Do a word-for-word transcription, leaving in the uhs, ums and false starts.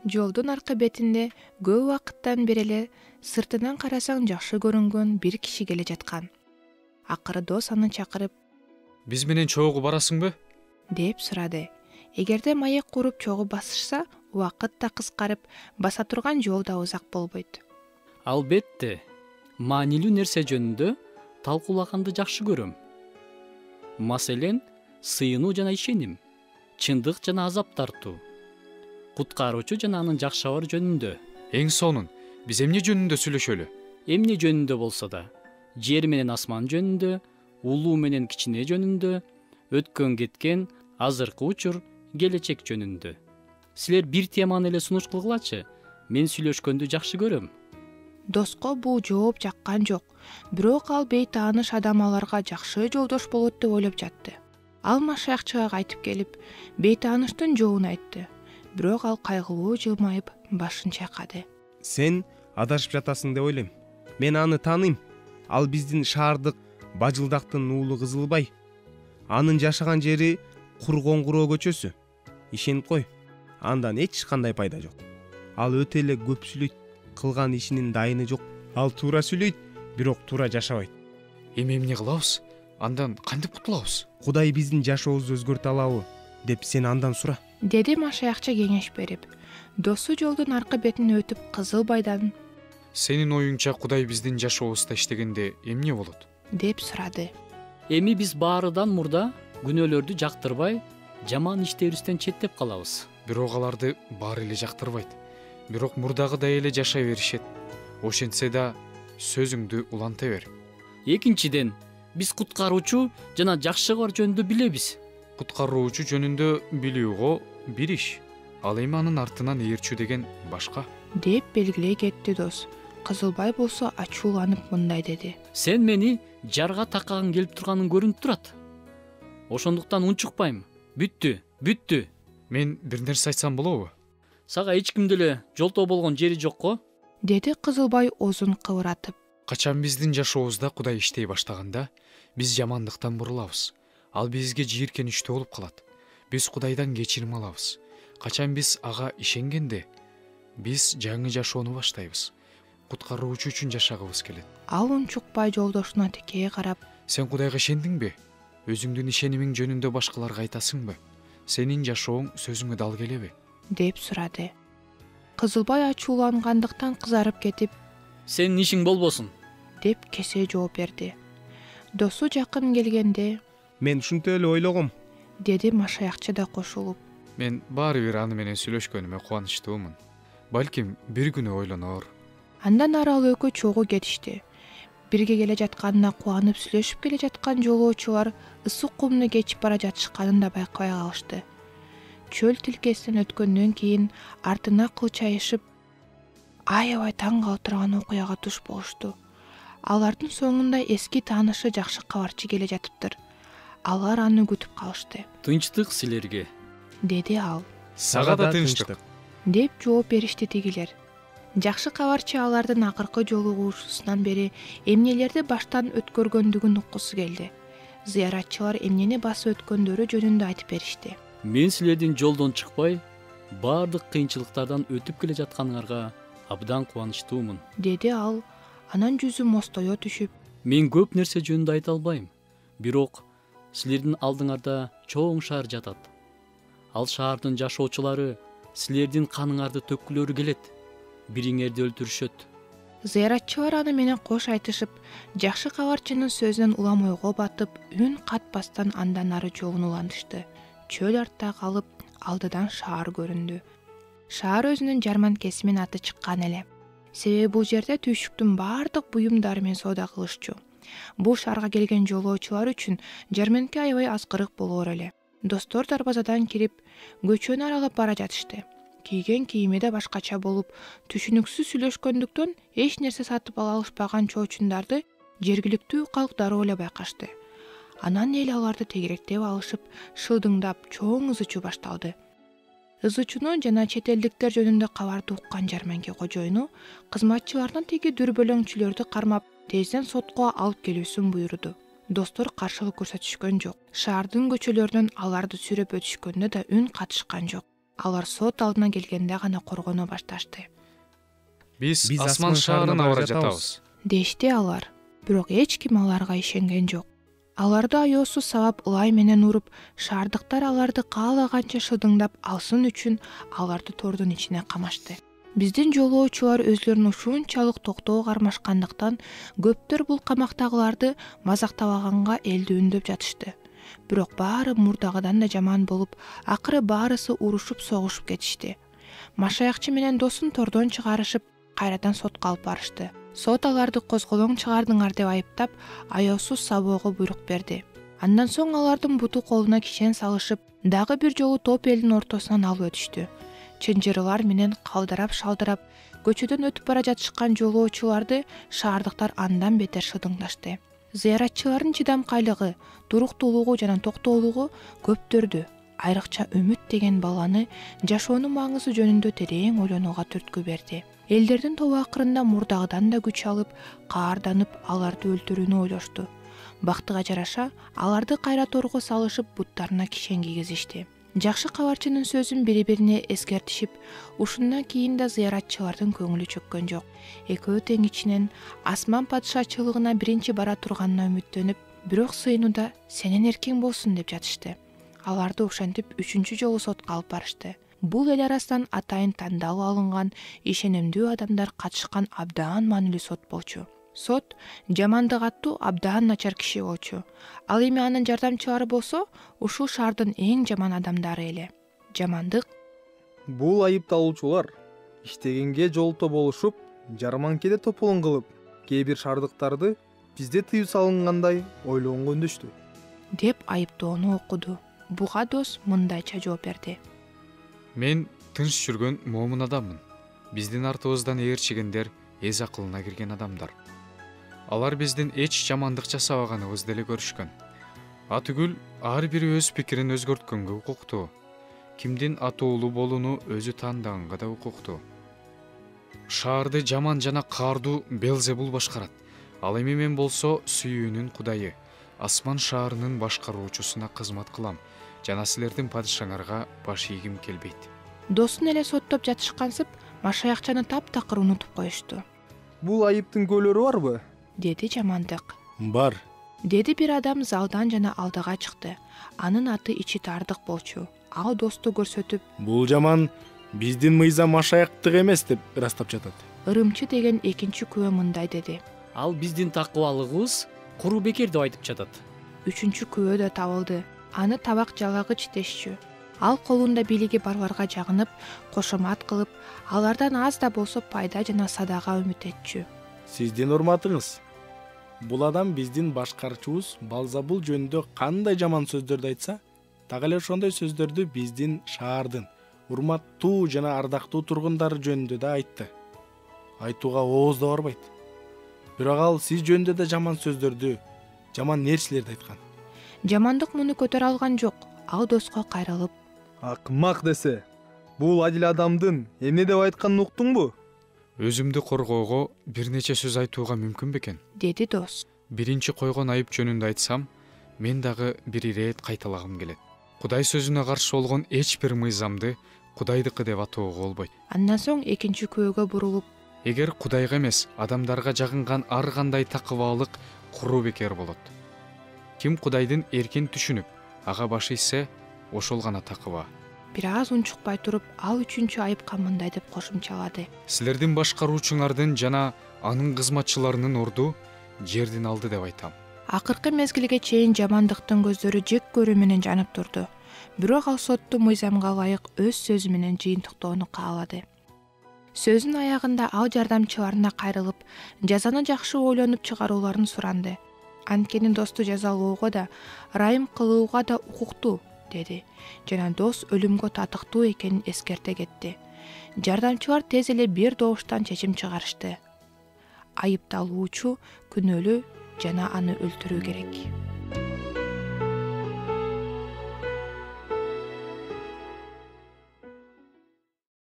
Жолдун аркы бетинде көп убакыттан бери эле сыртынан карасаң жакшы көрүнгөн бир киши келе жаткан. Акыры дос аны чакырып, «Биз менен чогуу барасыңбы?» деп сурады. Эгерде маек куруп чогуу басышса, убакыт да кыскарып, баса турган жол да узак болбойт. Албетте, маанилүү нерсе жөнүндө талкуулаганды жакшы көрөм. Маселен, сыйынуу жана ишеним, чындык жана азап тартуу, куткаруучу жана анын жакшабар жөнүндө. Эң сонун, биз эмне жөнүндө сүйлөшөлү? Эмне жөнүндө болсо да, жер менен асман жөнүндө, улуу менен кичине жөнүндө, өткөн кеткен, азыркы учур, келечек жөнүндө. Силер бир теманы эле сунуш кылгылачы, мен сүйлөшкөндү жакшы көрөм. Доско бул жооп жаккан жок, бирок ал бейтааныш адам аларга жакшы жолдош болот деп ойлоп жатты. Ал Машаякчыга кайтып келип, бейтааныштын жообун айтты. Бирок ал кайгылуу жылмайып, башын чайкады. Сен адашып жатасың деп ойлойм. Мен аны тааныйм. Ал биздин шаардык Бажылдактын уулу Кызылбай. Анын жашаган жери Кургоңгуроо көчөсү. Ишенип кой, андан эч кандай пайда жок. Ал өтө эле көп сүйлөйт, кылган ишинин дайыны жок. Ал туура сүйлөйт, бирок туура жашабайт. Эми эмне кылабыз? Андан кантип кутулабыз? Кудай биздин жашообузду өзгөртө алабы деп сен андан сура, деди Машаякчы кеңеш берип. Досу жолдун аркы бетине өтүп Кызылбайдан, Сенин оюңча Кудай биздин жашообузда иштегенде эмне болот? деп сурады. Эми биз баарыдан мурда күнөөлөрдү жактырбай, жаман иштерибизден четтеп калабыз. Бирок аларды баары эле жактырбайт. Бирок мурдагыдай эле жашай беришет. Ошентсе да сөзүңдү уланта бер. Экинчиден, биз куткаруучу жана жакшыбар жөнүндө билебиз. Куткаруучу жөнүндө билүүгө бир иш, ал эми анын артынан ээрчүү деген башка. деп белгилей кетти дос. Кызылбай болсо ачууланып мындай деди. Сен мени жарга таккан келип турганың көрүнүп турат. Ошондуктан унчукпайм. Бүттү, бүттү. Мен бир нерсе айтсам болобу? Сага эч кимде эле жолтоо болгон жери жокко? деди Кызылбай озун кыбыратып. Качан биздин жашообузда Кудай иштей баштаганда, биз жамандыктан бурулабыз. Ал бизге жийиркеничтүү болуп калат. Биз Кудайдан кечирим алабыз. Качан биз ага ишенгенде, биз жаңы жашоону баштайбыз. Куткаруучу үчүн жашагыбыз келет. Ал унчукпай жолдошуна тикей карап, Сен Кудайга ишендиңби? Өзүңдүн ишенимиң жөнүндө башкаларга айтасыңбы? Сенин жашооң сөзүңө дал келеби? деп сурады. Кызылбай ачуулангандыктан кызарып кетип, Сенин ишиң болбосун. деп кесе жооп берди. Досу жакын келгенде, мен ушинтип эле ойлогом, деди Машаякчы да кошулуп. Мен баары бир аны менен сүйлөшкөнүмө кубанычтуумун. Балким бир күнү ойлонор. Андан ары ал экөө чогуу кетишти. Бирге келе жатканына кубанып сүйлөшүп келе жаткан жолоочулар ысык кумду кечип бара жатышканын да байкабай калышты. Чөл тилкесинен өткөндөн кийин артына кылчайышып, аябай таң кала турган окуяга туш болушту. Алардын соңунда эски таанышы жакшы кабарчы келе жатыптыр. Алар аны күтүп калышты. Тынчтык силерге, деди ал. Сага да тынчтык, деп жооп беришти тигилер. Жакшы кабарчы алардын акыркы жолугушуусунан бери эмнелерди баштан өткөргөндүгүн уккусу келди. Зыяратчылар эмнени басып өткөндөрү жөнүндө айтып беришти. мен силердин жолдон чыкпай, баардык кыйынчылыктардан өтүп келе жатканыңарга абдан кубанычтуумун, деди ал. Анан жүзү мостое түшүп, мен көп нерсе жөнүндө айта албайм, бирок силердин алдыңарда чоң шаар жатат. Ал шаардын жашоочулары силердин каныңарды төккүлөрү келет, бириңерди өлтүрүшөт. Зыяратчылар аны менен кош айтышып, жакшы кабарчынын сөзүнөн улам ойго батып, үн катпастан андан ары жолун улантышты. Чөл артта калып, алдыдан шаар көрүндү. Шаар өзүнүн жарманкеси менен аты чыккан эле. Себеби бул жерде түйшүктүн баардык буюмдары менен соода кылышчу. Бул шаарга келген жолоочулар үчүн жарманке аябай аскырык болоор эле. Достор дарбазадан кирип, көчөнү аралап бара жатышты. Кийген кийими да башкача болуп, түшүнүксүз сүйлөшкөндүктөн эч нерсе сатып ала алышпаган чоочундарды жергиликтүү калк дароо эле байкашты. Анан эл аларды тегеректеп алышып, шылдыңдап, чоң ыз ичүү башталды. Ыз ичүүнү жана чет элдиктер жөнүндө кабарды уккан жарманке кожоюну кызматчылардан теги дүрбөлөңчүлөрдү кармап, тезден сотко алып келүүсүн буйруду. Достор каршылык көрсөтүшкөн жок. Шаардын көчөлөрүнөн аларды сүйрөп өтүшкөндө да үн катышкан жок. алар сот алдына келгенде гана коргоно башташты. Биз Биз асман шаарына бара жатабыз. Дешти алар, бирок эч ким аларга ишенген жок. Аларды аёсу сабап ылай менен уруп, шаардыктар аларды каалаганча шыдыңдап алсын үчүн аларды тордун ичине камашты. Биздин жолоочулар өзлөрүн ушунчалык токтоо кармашкандыктан көптөр бул камактагыларды мазактабаганга элдүүндөп жатышты. Бирок баары мурдагыдан да жаман болуп, акыры баарысы урушуп согушуп кетишти. Машаякчы менен досун тордон чыгарышып, кайрадан сотко алып барышты. Сот аларды козголоң чыгардыңар деп айыптап, аёсуз сабоого буйрук берди. Андан соң алардын буту колуна кишен салышып, дагы бир жолу топ элдин ортосунан алып өтүштү. Чынжырылар менен калдырап-шалдырап, көчөдөн өтүп бара жатышкан жолоочуларды шаардыктар андан бетер шыдыңдашты. Зыяратчылардын чыдамкайлыгы, туруктуулугу жана токтоолугу көптөрдү. Айрыкча Үмүт деген баланы жашоонун маңызы жөнүндө терең ойлонууга түрткү берди. Элдердин тобу акырында мурдагыдан да күч алып, каарданып, аларды өлтүрүүнү ойлошту. Бактыга жараша, аларды кайра торго салышып, буттарына кишен кийгизишти. Жакшы кабарчынын сөзүн бири-бирине эскертишип, ушундан кийин да зыяратчылардын көңүлү чөккөн жок. Экөө тең ичинен асман падышачылыгына биринчи бара турганына үмүттөнүп, бирок сыйынууда сенин эркиң болсун деп жатышты. Аларды ошентип үчүнчү жолу сотко алып барышты. Бул эл арасынан атайын тандалып алынган, ишенимдүү адамдар катышкан абдан маанилүү сот болчу. Сот Жамандык аттуу абдан начар киши болчу. Ал эми анын жардамчылары болсо, ушул шаардын эң жаман адамдары эле. Жамандык: бул айыпталуучулар иштегенге жолто болушуп, жарманкеде тополоң кылып, кээ бир шаардыктарды бизде тыюу салынгандай ойлогонго үндөштү деп айыптоону окуду. Буга дос мындайча жооп берди: Мен тынч жүргөн момун адаммын. Биздин артыбыздан ээрчигендер эз акылына кирген адамдар. Алар биздин эч жамандык жасабаганыбызды эле көрүшкөн. Атүгүл ар бири өз пикирин өзгөрткөнгө укуктуу. Кимдин атуулуу болууну өзү тандаганга да укуктуу. Шаарды жаман жана каардуу Белзебул башкарат. Ал эми мен болсо сүйүүнүн кудайы, асман шаарынын башкаруучусуна кызмат кылам жана силердин падышаңарга баш ийгим келбейт. Досун эле соттоп жатышкансып, машаякчаны таптакыр унутуп коюшту. бул айыптын көлөрү барбы? Деди Жамандык. Бар. Деди бир адам залдан жана алдыга чыкты. Анын аты Ичи Тардык болчу. Ал досту көрсөтүп: Бул жаман биздин мыйзам машаяктык эмес деп ырастап жатат. Ырымчы деген экинчи күбө мындай деди: Ал биздин такыбалыгыбыз куру бекер деп айтып жатат. Үчүнчү күбө да табылды. Аны табак жалагыч дешчү. Ал колунда бийлиги барларга жагынып, кошомат кылып, алардан аз да болсо пайда жана садага үмүт этчү. Сиздин урматыңыз. Бул адам биздин башкарчубуз Балзабул жөнүндө кандай жаман сөздөрдү айтса, так эле ошондой сөздөрдү биздин шаардын урматтуу жана ардактуу тургундары жөнүндө да айтты. Айтууга ооз да барбайт. Бирок ал сиз жөнүндө да жаман сөздөрдү, жаман нерселерди айткан. Жамандык муну көтөрө алган жок. Ал доско кайрылып: Акмак десе, бул адил адамдын эмне деп айтканын уктуңбу? Өзүмдү коргоого бир нече сөз айтууга мүмкүн бекен? Деди дос. Биринчи койгон айып жөнүндө айтсам, мен дагы бир ирет кайталагым келет. Кудай сөзүнө каршы болгон эч бир мыйзамды Кудайдыкы деп атоого болбойт. Андан соң экинчи күбөгө бурулуп: Эгер Кудайга эмес, адамдарга жагынган ар кандай такыбаалык куру бекер болот. Ким Кудайдын эркин түшүнүп, ага баш ийсе, ошол гана такыба. Бир аз унчукпай туруп, ал үчүнчү айыпка мындай деп кошумчалады: Силердин башкаруучуңардын жана анын кызматчыларынын орду жердин алды деп айтам. Акыркы мезгилге чейин Жамандыктын көздөрү жек көрүү менен жанып турду. Бирок ал сотту мыйзамга ылайык өз сөзү менен жыйынтыктоону каалады. Сөзүнүн аягында ал жардамчыларына кайрылып, жазаны жакшы ойлонуп чыгарууларын суранды. Анткени досту жазалоого да, ырайым кылууга да укуктуу, деди жана дос өлүмгө татыктуу экенин эскерте кетти. Жардамчылар тез эле бир добуштан чечим чыгарышты: айыпталуучу күнөөлүү жана аны өлтүрүү керек.